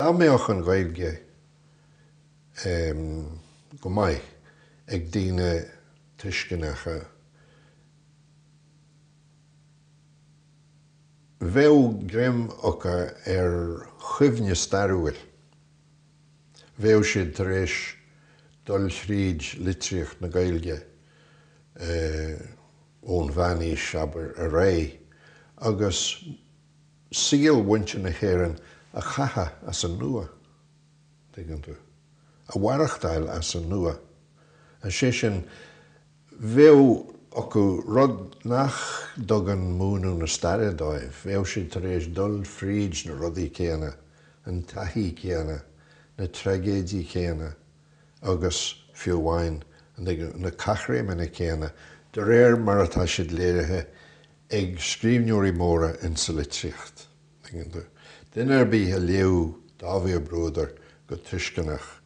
Dá mbeadh an Ghaeilge go maith ag daoine tuisceanacha, bheadh greim acu ar chuimhne stairiúil, bheadh siad tar éis dul thríd litríocht na Gaeilge ón Mheánaois, abair, ar aghaidh agus saol mhuintir na hÉireann a chaitheamh as an nua, tuigeann tú, a mhaireachtáil as an nua. Is é sin, bheadh acu rud nach dtugann múineadh na staire dóibh, bheadh siad tar éis dul fríd na rudaí céanna, an taithí céanna, na traigéidí céanna agus, fiú amháin, na caithréimeanna céanna, de réir mar atá siad léirithe ag scríbhneoirí móra insa litríocht. Tuigeann tú? Duine ar bith a léadh Dáibhí Ó Bruadair go tuisceanach,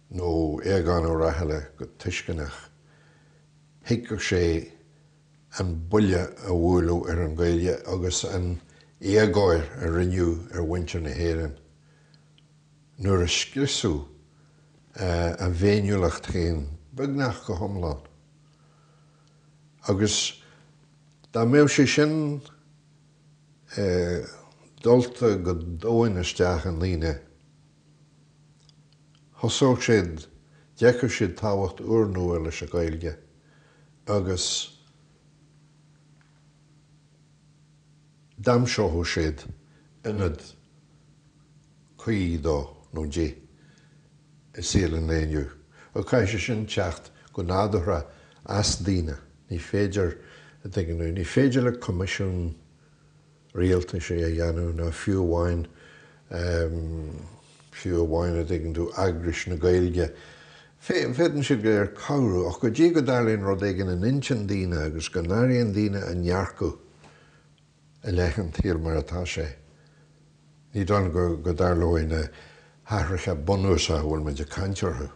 nó Aogán Ó Rathaille go tuisceanach, thuigfeadh sé an buille a buaileadh ar an Ghaeilge agus an éagóir a rinneadh ar mhuintir na hÉireann nuair a scriosadh a bhféiniúlacht féin beagnach go hiomlán. Agus dá mbeadh sé sin dulta go domhain isteach i ndaoine, thosódh siad, d'fheicfeadh siad tábhacht úrnua leis an Ghaeilge agus d'aimseodh siad ionad cuí dó nó di i saol an lae inniu. Ach caithfidh sé sin teacht go nádúrtha as daoine. Ní féidir, a dtuigeann tú, ní féidir le coimisiún rialtais é a dhéanamh ná fiú amháin, fiú amháin, a dtuigeann tú, eagrais na Gaeilge. Féadann siad go léir cabhrú ach go dtí go dtarlaíonn rud éigin in intinn daoine agus go n-airíonn daoine a ndearcadh i leith an tsaoil mar atá sé, ní dóigh liom go dtarlóidh na hathruithe bunúsacha a bhfuil muid ag caint orthu.